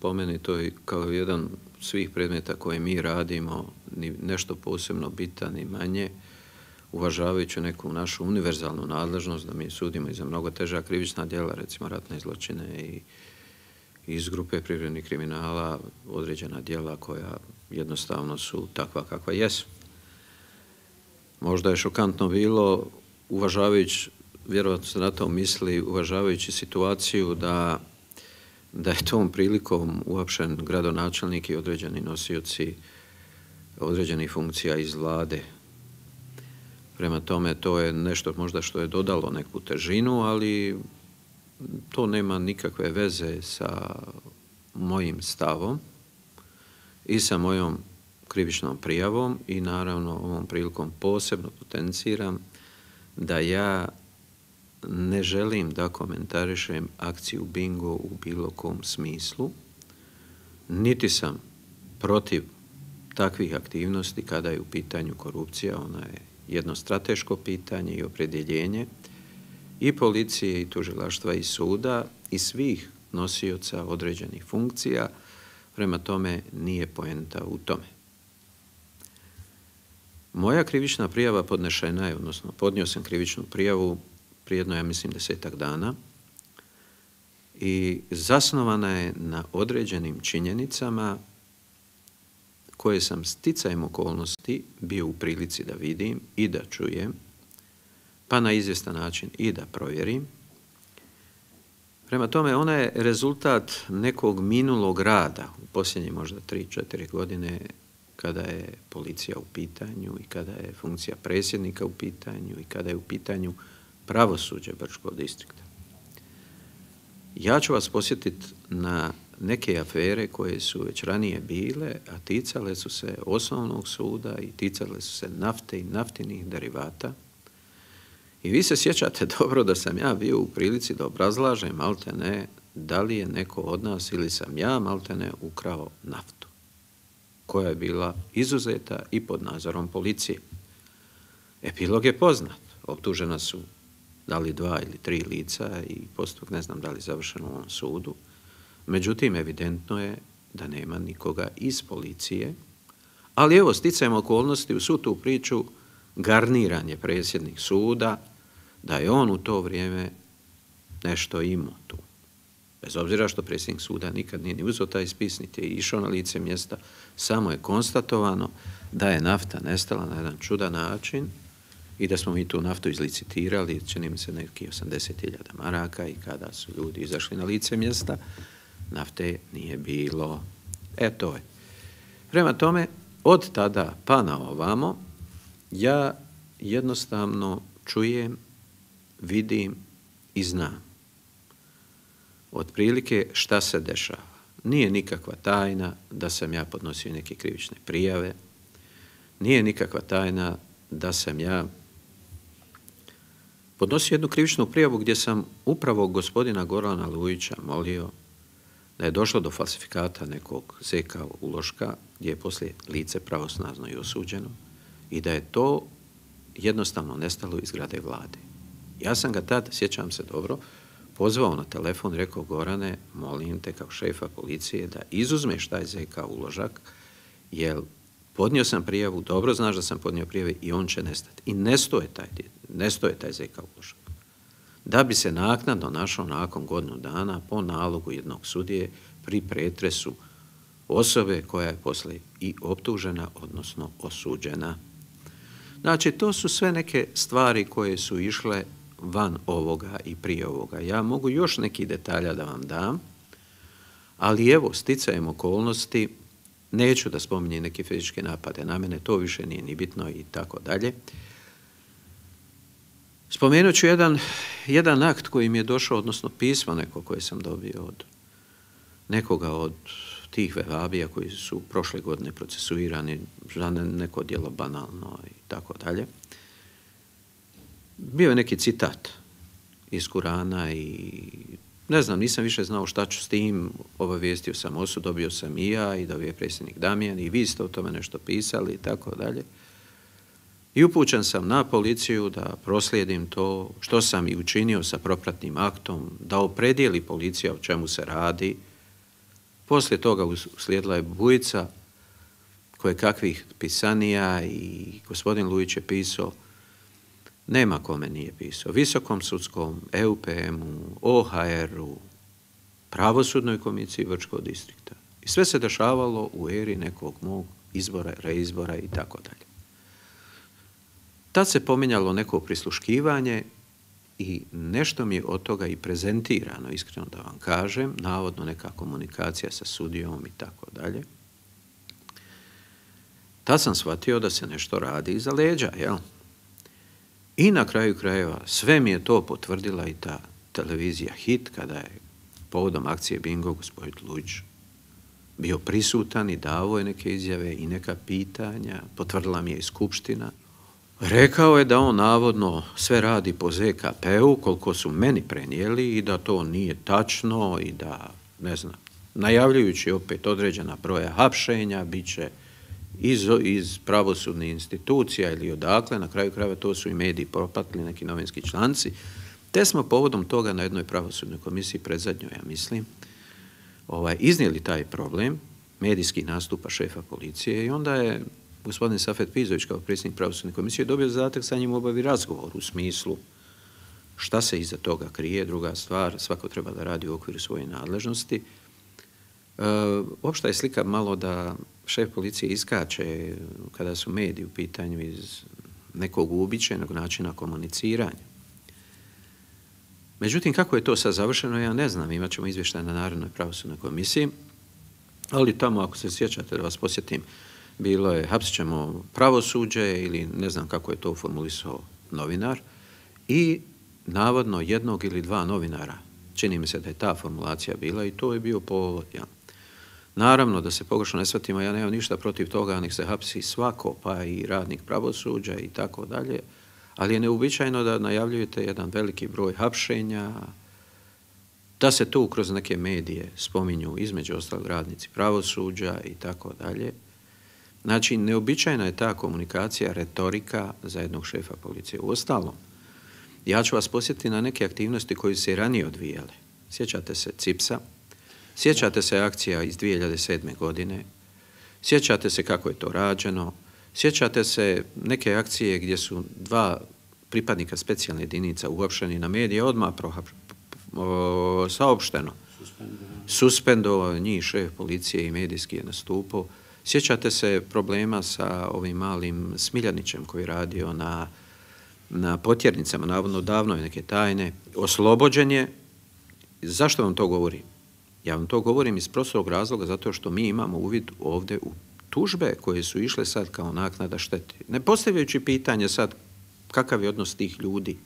Po meni to je kao jedan svih predmeta koje mi radimo, ni nešto posebno bitan ni manje, uvažavajući neku našu univerzalnu nadležnost da mi sudimo i za mnogo teža krivična djela, recimo ratne zločine i iz grupe privrednih kriminala, određena djela koja jednostavno su takva kakva jesu. Možda je šokantno bilo, uvažavajući, vjerovatno se na to misli, uvažavajući situaciju da je tom prilikom uapšen gradonačelnik i određeni nosioci određenih funkcija iz vlade. Prema tome, to je nešto možda što je dodalo neku težinu, ali to nema nikakve veze sa mojim stavom i sa mojom krivičnom prijavom i naravno ovom prilikom posebno potenciram da ja ne želim da komentarišem akciju Bingo u bilo kom smislu, niti sam protiv takvih aktivnosti kada je u pitanju korupcija. Ona je jedno strateško pitanje i opredjeljenje i policije i tužilaštva i suda i svih nosioca određenih funkcija, prema tome nije poenta u tome. Moja krivična prijava podnešena je, odnosno podnio sam krivičnu prijavu prije jedno, ja mislim, 10-ak dana i zasnovana je na određenim činjenicama koje sam sticajem okolnosti bio u prilici da vidim i da čujem, pa na izvjestan način i da provjerim. Prema tome, ona je rezultat nekog minulog rada u posljednje možda 3-4 godine kada je policija u pitanju i kada je funkcija predsjednika u pitanju i kada je u pitanju pravosuđe Brčkog distrikta. Ja ću vas posjetiti na neke afere koje su već ranije bile, a ticale su se osnovnog suda i ticale su se nafte i naftinih derivata. I vi se sjećate dobro da sam ja bio u prilici da obrazlažem maltene da li je neko od nas ili sam ja maltene ukrao naftu, koja je bila izuzeta i pod nadzorom policije. Epilog je poznat. Optužena su da li 2 ili 3 lica i postupak ne znam da li završen u ovom sudu. Međutim, evidentno je da nema nikoga iz policije, ali evo, sticajem okolnosti u svu tu priču garniran je predsjednik suda da je on u to vrijeme nešto imao tu. Bez obzira što predsjednik suda nikad nije ni uzeo taj spis, niti je išao na lice mjesta, samo je konstatovano da je nafta nestala na jedan čudan način i da smo mi tu naftu izlicitirali, čini mi se neki 80.000 maraka i kada su ljudi izašli na lice mjesta, nafte nije bilo. To je. Prema tome, od tada pa na ovamo, ja jednostavno čujem, vidim i znam otprilike šta se dešava. Nije nikakva tajna da sam ja podnosio neke krivične prijave, nije nikakva tajna da sam ja podnosio jednu krivičnu prijavu gdje sam upravo gospodina Gorana Lujića molio da je došlo do falsifikata nekog ZK uloška gdje je poslije lice pravosnažno i osuđeno i da je to jednostavno nestalo iz zgrade vlade. Ja sam ga tad, sjećam se dobro, pozvao na telefon i rekao: Gorane, molim te kao šefa policije da izuzmeš taj ZK uložak, jer podnio sam prijavu, dobro znaš da sam podnio prijave i on će nestati. I nestoje taj ZK uložak. Da bi se naknadno našao nakon godinu dana po nalogu jednog sudije pri pretresu osobe koja je poslije i optužena, odnosno osuđena. Znači, to su sve neke stvari koje su išle van ovoga i prije ovoga. Ja mogu još neki detalja da vam dam, ali evo, sticajem okolnosti, neću da spominjem neke fizičke napade na mene, to više nije ni bitno i tako dalje. Spomenut ću jedan akt koji mi je došao, odnosno pismo neko koje sam dobio od nekoga od tih vehhabija koji su prošle godine procesuirani za neko djelo banalno i tako dalje. Bio je neki citat iz Kurana i ne znam, nisam više znao šta ću s tim, obavijestio sam osud, dobio sam i ja i dobio je predsjednik Damjan i vi ste o tome nešto pisali i tako dalje. I upućen sam na policiju da proslijedim to što sam i učinio sa propratnim aktom, da opredijeli policija o čemu se radi, Poslije toga uslijedila je bujica koje kakvih pisanija i gospodin Lujić je pisao, nema kome nije pisao, Visokom sudskom, EUPM-u, OHR-u, Pravosudnoj komisiji Vrčkog distrikta. I sve se dešavalo u eri nekog mog izbora, reizbora i tako dalje. Tad se pominjalo neko prisluškivanje i nešto mi je od toga i prezentirano, iskreno da vam kažem, navodno neka komunikacija sa sudijom i tako dalje. Tad sam shvatio da se nešto radi iza leđa, jel? I na kraju krajeva sve mi je to potvrdila i ta televizija Hit, kada je povodom akcije Bingo gospodin Lujić bio prisutan i davo je neke izjave i neka pitanja, potvrdila mi je i skupština. Rekao je da on navodno sve radi po ZKP-u, koliko su meni prenijeli i da to nije tačno i da, ne znam, najavljujući opet određena broja hapšenja, bit će iz pravosudnih institucija ili odakle, na kraju krajeva to su i mediji propatili, neki novinski članci, te smo povodom toga na jednoj pravosudnoj komisiji, predzadnjoj, ja mislim, iznijeli taj problem medijskih nastupa šefa policije i onda je gospodin Safet Pizović kao predsjednik pravosudne komisije dobio zadatak sa njim obavi razgovor u smislu šta se iza toga krije, druga stvar, svako treba da radi u okviru svoje nadležnosti. Opšta je slika malo da šef policije iskače kada su mediji u pitanju iz nekog uobičajenog načina komuniciranja. Međutim, kako je to sad završeno, ja ne znam, imat ćemo izvještaj na Narodnoj pravosudnoj komisiji, ali tamo, ako se sjećate, da vas posjetim, bilo je hapsit ćemo pravosuđe ili ne znam kako je to formulisao novinar i navodno jednog ili dva novinara. Čini mi se da je ta formulacija bila i to je bio povod. Ja. Naravno, da se pogrešno ne shvatimo, ja nemam ništa protiv toga, nek se hapsi svako, pa i radnik pravosuđa i tako dalje, ali je neuobičajeno da najavljujete jedan veliki broj hapšenja, da se tu kroz neke medije spominju između ostalog radnici pravosuđa i tako dalje. Znači, neobičajna je ta komunikacija, retorika za jednog šefa policije. Uostalom, ja ću vas posjetiti na neke aktivnosti koje se i ranije odvijale. Sjećate se CIPS-a, sjećate se akcija iz 2007. godine, sjećate se kako je to rađeno, sjećate se neke akcije gdje su dva pripadnika specijalne jedinica uhapšeni na medije, odmah saopšteno. Suspendovao njih šef policije i medijski je nastupao. Sjećate se problema sa ovim malim Smiljanićem koji je radio na potjernicama, navodno davno je neke tajne. Oslobođen je. Zašto vam to govorim? Ja vam to govorim iz prostog razloga zato što mi imamo uvid ovdje u tužbe koje su išle sad kao naknada štete. Ne postavljajući pitanje sad kakav je odnos tih ljudi,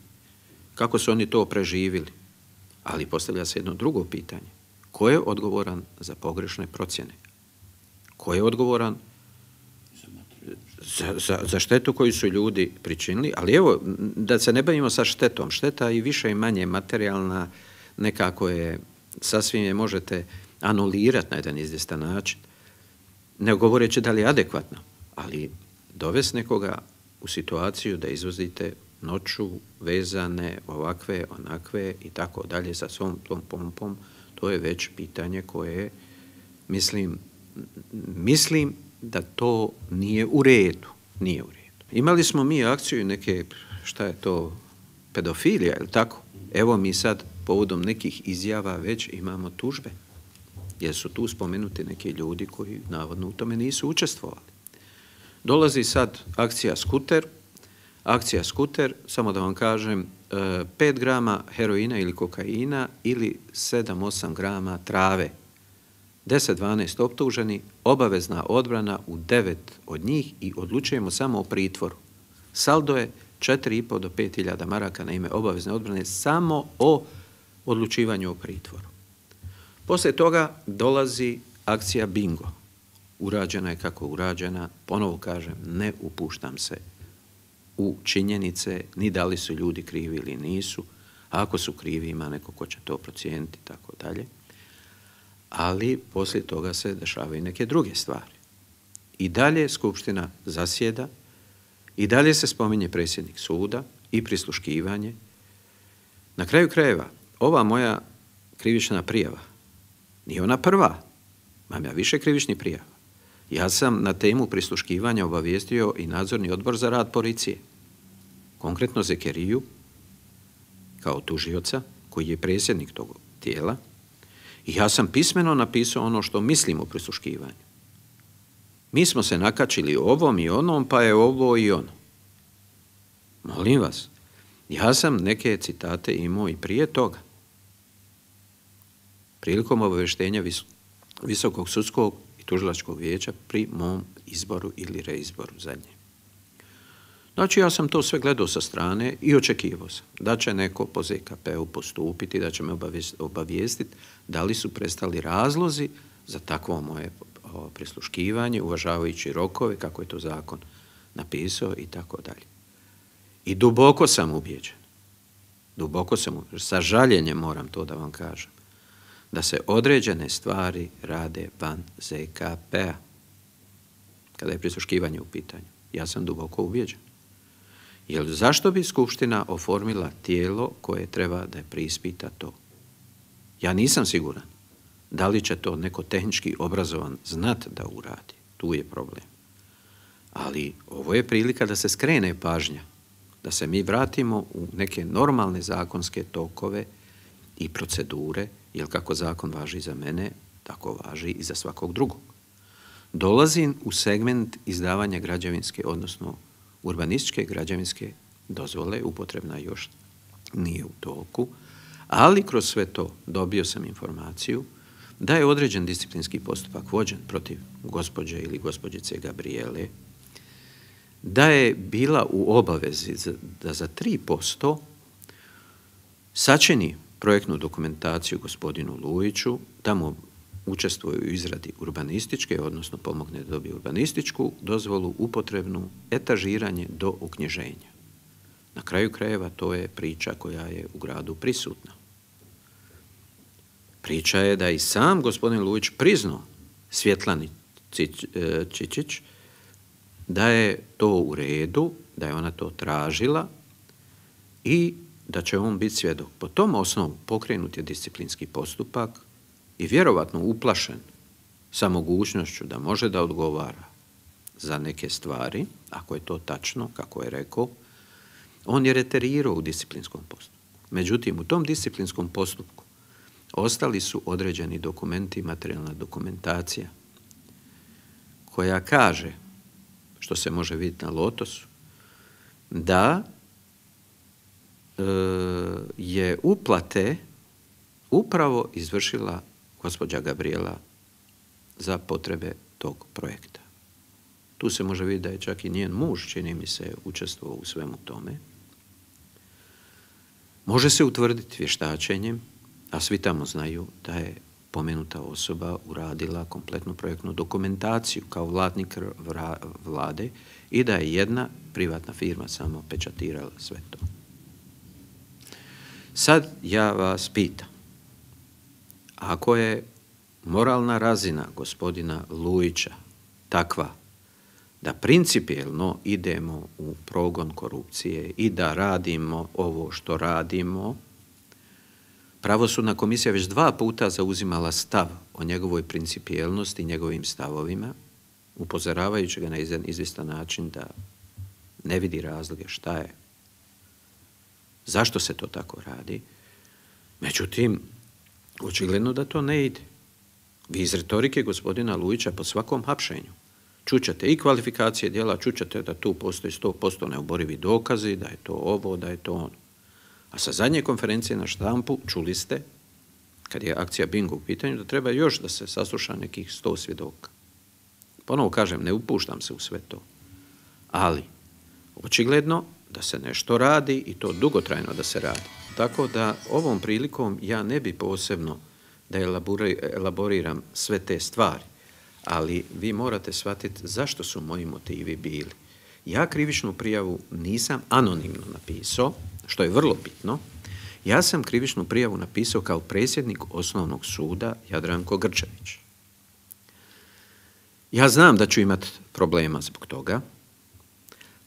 kako su oni to preživjeli, ali postavlja se jedno drugo pitanje. Ko je odgovoran za pogrešne procjene? Ko je odgovoran za štetu koju su ljudi pričinili? Ali evo, da se ne bavimo sa štetom. Šteta i više i manje materijalna, nekako je, sasvim je možete anulirati na jedan izvjestan način. Ne govoreći da li je adekvatno, ali dovesti nekoga u situaciju da izvozite noću vezane ovakve, onakve i tako dalje sa svom tom pompom, to je već pitanje koje, mislim da to nije u redu. Nije u redu. Imali smo mi akciju neke, šta je to, pedofilija, ili tako? Evo mi sad povodom nekih izjava već imamo tužbe, jer su tu spomenuti neki ljudi koji navodno u tome nisu učestvovali. Dolazi sad akcija Skuter. Akcija Skuter, samo da vam kažem, 5 grama heroina ili kokaina ili 7-8 grama trave. 10-12 optuženi, obavezna odbrana u 9 od njih i odlučujemo samo o pritvoru. Saldo je 4,5 do 5.000 maraka na ime obavezne odbrane samo o odlučivanju o pritvoru. Poslije toga dolazi akcija Bingo. Urađena je kako urađena, ponovo kažem, ne upuštam se u činjenice, ni da li su ljudi krivi ili nisu, a ako su krivi ima neko ko će to procijeniti, tako dalje. Ali poslije toga se dešavaju neke druge stvari. I dalje Skupština zasjeda, i dalje se spominje predsjednik suda i prisluškivanje. Na kraju krajeva, ova moja krivična prijava nije ona prva. Imam ja više krivičnih prijava. Ja sam na temu prisluškivanja obavijestio i nadzorni odbor za rad policije. Konkretno Zekeriju, kao tužioca, koji je predsjednik tog tijela, i ja sam pismeno napisao ono što mislim o prisluškivanju. Mi smo se nakačili ovom i onom, pa je ovo i ono. Molim vas, ja sam neke citate imao i prije toga. Prilikom obavještenja Visokog sudskog i tužilačkog vijeća pri mom izboru ili reizboru zadnje. Znači, ja sam to sve gledao sa strane i očekivao sam da će neko po ZKP-u postupiti, da će me obavijestiti da li su prestali razlozi za takvo moje prisluškivanje, uvažavajući rokove, kako je to zakon napisao i tako dalje. I duboko sam ubijeđen, sa žaljenjem moram to da vam kažem, da se određene stvari rade van ZKP-a. Kada je prisluškivanje u pitanju, ja sam duboko ubijeđen. Jer zašto bi Skupština oformila tijelo koje treba da preispita to? Ja nisam siguran da li će to neko tehnički obrazovan znat da uradi. Tu je problem. Ali ovo je prilika da se skrene pažnja, da se mi vratimo u neke normalne zakonske tokove i procedure, jer kako zakon važi za mene, tako važi i za svakog drugog. Dolazim u segment izdavanja građevinske, odnosno urbanističke građevinske dozvole, upotrebna još nije u toku, ali kroz sve to dobio sam informaciju da je određen disciplinski postupak vođen protiv gospođe ili gospođice Gabrijele, da je bila u obavezi da za 3% sačini projektnu dokumentaciju gospodinu Lujiću, da mu učestvuje u izradi urbanističke, odnosno pomogne da dobije urbanističku dozvolu, upotrebnu, etažiranje do uknjiženja. Na kraju krajeva to je priča koja je u gradu prisutna. Priča je da i sam gospodin Lujić priznao Svjetlani Čičić da je to u redu, da je ona to tražila i da će on biti svjedok. Po tom osnovu pokrenut je disciplinski postupak i vjerovatno uplašen sa mogućnošću da može da odgovara za neke stvari, ako je to tačno, kako je rekao, on je reterirao u disciplinskom postupku. Međutim, u tom disciplinskom postupku ostali su određeni dokumenti i materijalna dokumentacija koja kaže, što se može vidjeti na Lotosu, da je uplate upravo izvršila gospođa Gabrijela za potrebe tog projekta. Tu se može vidjeti da je čak i njen muž, čini mi se, učestvovao u svemu tome. Može se utvrditi vještačenjem, a svi tamo znaju da je pomenuta osoba uradila kompletnu projektnu dokumentaciju kao vlasnik vlade i da je jedna privatna firma samo pečatirala sve to. Sad ja vas pitam, ako je moralna razina gospodina Lujića takva da principijelno idemo u progon korupcije i da radimo ovo što radimo, Pravosudna komisija već 2 puta zauzimala stav o njegovoj principijelnosti i njegovim stavovima, upozoravajući ga na izvjestan način da ne vidi razloge šta je, zašto se to tako radi. Međutim, očigledno da to ne ide. Vi iz retorike gospodina Lujića po svakom hapšenju čućete i kvalifikacije djela, čućete da tu postoji 100% neoborivi dokazi, da je to ovo, da je to ono. A sa zadnje konferencije na štampu čuli ste, kad je akcija Bingo u pitanju, da treba još da se sasluša nekih 100 svjedoka. Ponovo kažem, ne upuštam se u sve to. Ali, očigledno da se nešto radi i to dugotrajno da se radi. Tako da ovom prilikom ja ne bi posebno da elaboriram sve te stvari, ali vi morate shvatiti zašto su moji motivi bili. Ja krivičnu prijavu nisam anonimno napisao, što je vrlo bitno. Ja sam krivičnu prijavu napisao kao predsjednik Osnovnog suda Jadranko Grčević. Ja znam da ću imati problema zbog toga,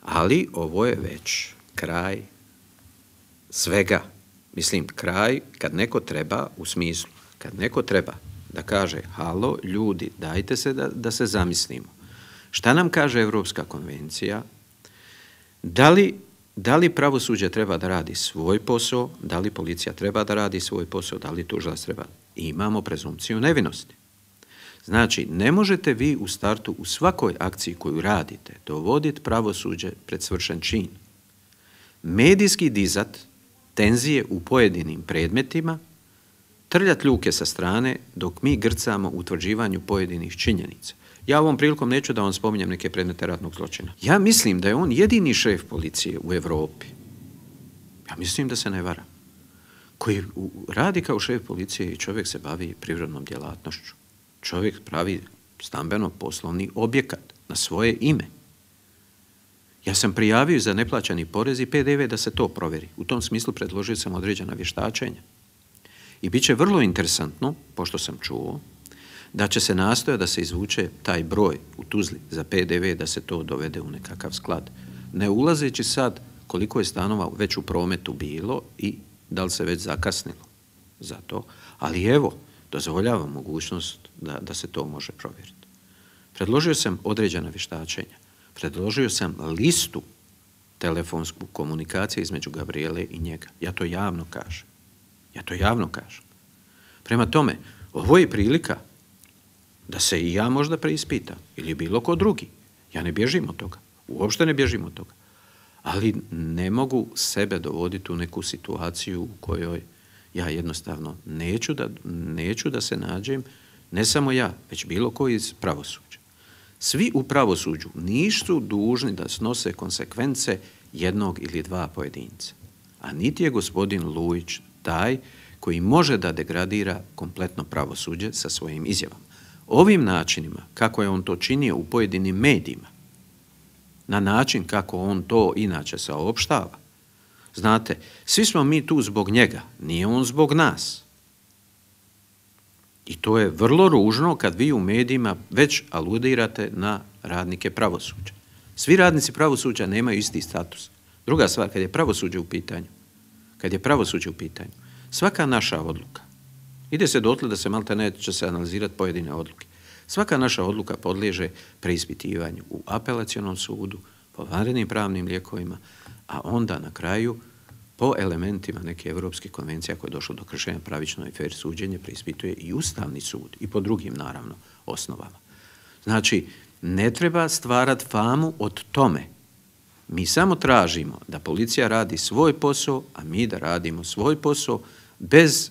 ali ovo je već kraj svega. Mislim, kraj kad neko treba, u smislu, kad neko treba da kaže, halo, ljudi, dajte se da se zamislimo. Šta nam kaže Europska konvencija? Da li pravosuđe treba da radi svoj posao, da li policija treba da radi svoj posao, da li tužilac treba? Imamo prezumpciju nevinosti. Znači, ne možete vi u startu u svakoj akciji koju radite dovoditi pravosuđe pred svršen čin. Medijski dizat tenzije u pojedinim predmetima, trljat ljuke sa strane dok mi grcamo u utvrđivanju pojedinih činjenica. Ja ovom prilikom neću da vam spominjem neke predmete ratnog zločina. Ja mislim da je on jedini šef policije u Europi. Ja mislim da se ne vara. Koji radi kao šef policije i čovjek se bavi privrednom djelatnošću. Čovjek pravi stambeno-poslovni objekat na svoje ime. Ja sam prijavio za neplaćani porez i PDV da se to provjeri. U tom smislu predložio sam određena vještačenja. I bit će vrlo interesantno, pošto sam čuo, da će se nastojati da se izvuče taj broj u Tuzli za PDV, da se to dovede u nekakav sklad. Ne ulazeći sad koliko je stanova već u prometu bilo i da li se već zakasnilo za to. Ali evo, dozvoljavam mogućnost da se to može provjeriti. Predložio sam određena vještačenja. Predložio sam listu telefonsku komunikacije između Gabrijele i njega. Ja to javno kažem. Prema tome, ovo je prilika da se i ja možda preispitam ili bilo ko drugi. Ja ne bježim od toga. Uopšte ne bježim od toga. Ali ne mogu sebe dovoditi u neku situaciju u kojoj ja jednostavno neću da se nađem, ne samo ja, već bilo ko iz pravosuđa. Svi u pravosuđu nisu dužni da snose konsekvence jednog ili dva pojedinca. A niti je gospodin Lujić taj koji može da degradira kompletno pravosuđe sa svojim izjavama. Ovim načinima, kako je on to činio u pojedinim medijima, na način kako on to inače saopštava, znate, svi smo mi tu zbog njega, nije on zbog nas. I to je vrlo ružno kad vi u medijima već aludirate na radnike pravosuđa. Svi radnici pravosuđa nemaju isti status. Druga stvar, kad je pravosuđe u pitanju, svaka naša odluka, ide se dotle da se maltene će se analizirati pojedine odluke. Svaka naša odluka podliježe preispitivanju u apelacionom sudu, po vanrednim pravnim lijekovima, a onda na kraju po elementima neke Europske konvencije koje je došlo do kršenja pravično i fer suđenje preispituje i Ustavni sud i po drugim, naravno, osnovama. Znači, ne treba stvarati famu od tome. Mi samo tražimo da policija radi svoj posao, a mi da radimo svoj posao bez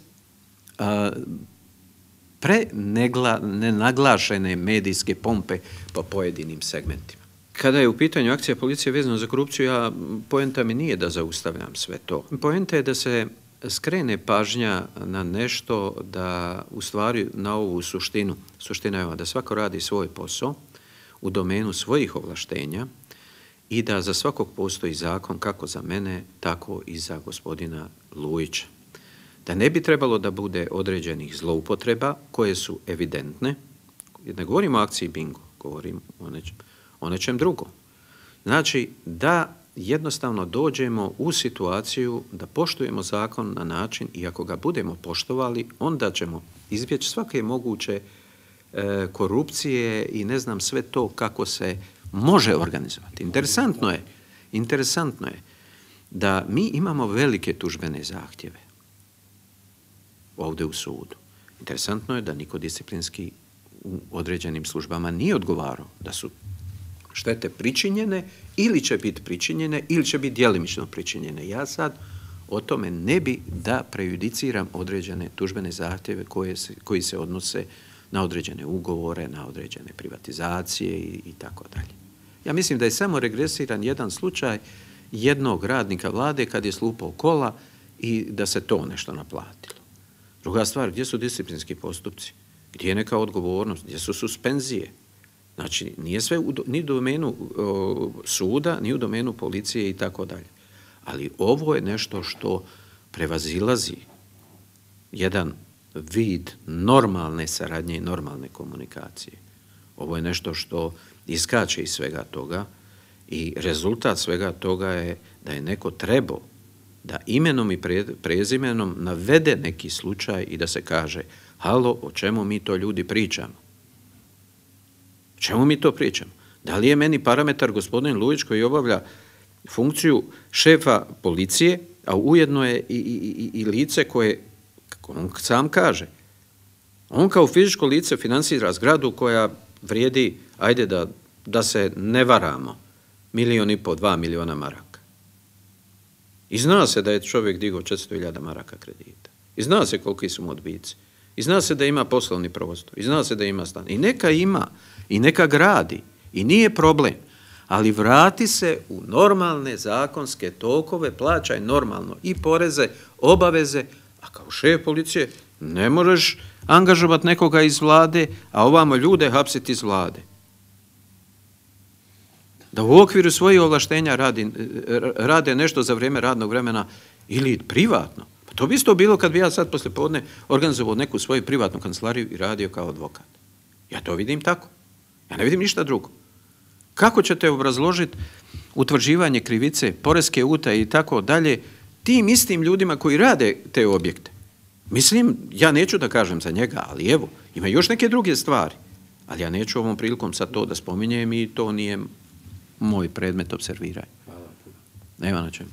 nenaglašene medijske pompe po pojedinim segmentima. Kada je u pitanju akcija policije vezano za korupciju, poenta mi nije da zaustavljam sve to. Poenta je da se skrene pažnja na nešto, da u stvari na ovu suštinu. Suština je da svako radi svoj posao u domenu svojih ovlaštenja i da za svakog postoji zakon kako za mene, tako i za gospodina Lujića. Da ne bi trebalo da bude određenih zloupotreba koje su evidentne. Ne govorim o akciji bingo, govorim o nečem drugom. Znači da jednostavno dođemo u situaciju da poštujemo zakon na način i ako ga budemo poštovali, onda ćemo izbjeći svake moguće korupcije i ne znam sve to kako se može organizovati. Interesantno je da mi imamo velike tužbene zahtjeve ovdje u sudu. Interesantno je da niko disciplinski u određenim službama nije odgovarao da su štete pričinjene ili će biti pričinjene ili će biti djelimično pričinjene. Ja sad o tome ne bi da prejudiciram određene tužbene zahtjeve koji se odnose na određene ugovore, na određene privatizacije i tako dalje. Ja mislim da je samo regresiran jedan slučaj jednog radnika vlade kad je slupao kola i da se to nešto naplatilo. Druga stvar, gdje su disciplinski postupci? Gdje je neka odgovornost? Gdje su suspenzije? Znači, nije sve ni u domenu suda, ni u domenu policije i tako dalje. Ali ovo je nešto što prevazilazi jedan vid normalne saradnje i normalne komunikacije. Ovo je nešto što iskače iz svega toga i rezultat svega toga je da je neko trebao da imenom i prezimenom navede neki slučaj i da se kaže Halo, o čemu mi to ljudi pričamo? O čemu mi to pričamo? Da li je meni parametar gospodin Lujić koji obavlja funkciju šefa policije, a ujedno je i lice koje, kako on sam kaže, on kao fizičko lice financira zgradu koja vrijedi, ajde da se ne varamo, 1,5, 2 milijuna maraka. I zna se da je čovjek digao 400.000 maraka kredita. I zna se koliki su mu odbici. I zna se da ima poslovni prostor. I zna se da ima stan. I neka ima. I neka gradi. I nije problem. Ali vrati se u normalne zakonske tokove, plaćaj normalno i poreze, obaveze, a kao šef policije ne možeš angažovati nekoga iz vlade, a ovamo ljude hapsiti iz vlade. Da u okviru svojih ovlaštenja rade nešto za vrijeme radnog vremena ili privatno. Pa to bi isto bilo kad bi ja sad poslije podne organizovao neku svoju privatnu kancelariju i radio kao advokat. Ja to vidim tako. Ja ne vidim ništa drugo. Kako ćete obrazložiti utvrđivanje krivice, poreske utaje i tako dalje tim istim ljudima koji rade te objekte? Mislim, ja neću da kažem za njega, ali evo, ima još neke druge stvari. Ali ja neću ovom prilikom sad to da spominjem i to nije moj predmet observiranja. Nema na čemu.